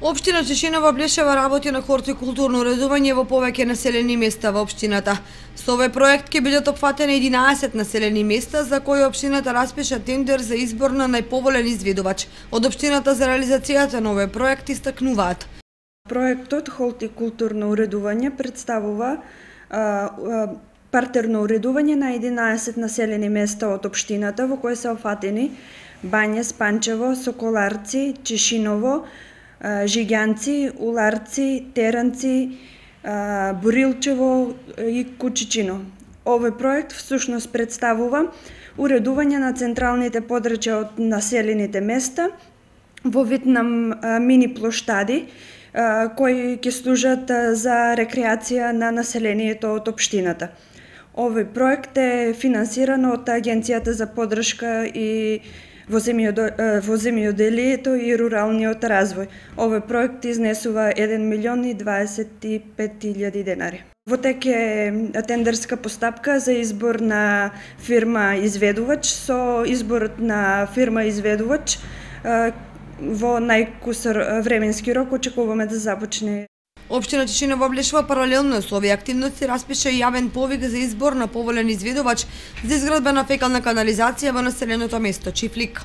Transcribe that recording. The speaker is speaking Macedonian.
Општина Чешинова Блешева работи на хортикултурно уредување во повеќе населени места во општината. Со овој проект ќе бидат опфатени 11 населени места за кои општината распиша тендер за избор на најповолен изведувач. Од општината за реализацијата на овој проект истакнуваат. Проектот хортикултурно уредување представува партерно уредување на 11 населени места од општината во кои се опфатени Бања, Спанчево, Соколарци, Чешиново, Жиѓанци, Уларци, Теранци, Борилчево и Кучичино. Овој проект всушност представува уредување на централните подрачја од населените места во вид на мини плоштади кои ќе служат за рекреација на населението од општината. Овој проект е финансиран од Агенцијата за поддршка и во земјоделието и руралниот развој. Овој проект изнесува 1.025.000 денари. Во тек е тендерска постапка за избор на фирма изведувач. Со изборот на фирма изведувач во најкусар временски рок очекуваме да започне. Општина Чешинова Блешева паралелно со овие активности распиша јавен повик за избор на поволен изведувач за изградба на фекална канализација во населеното место Чифлик.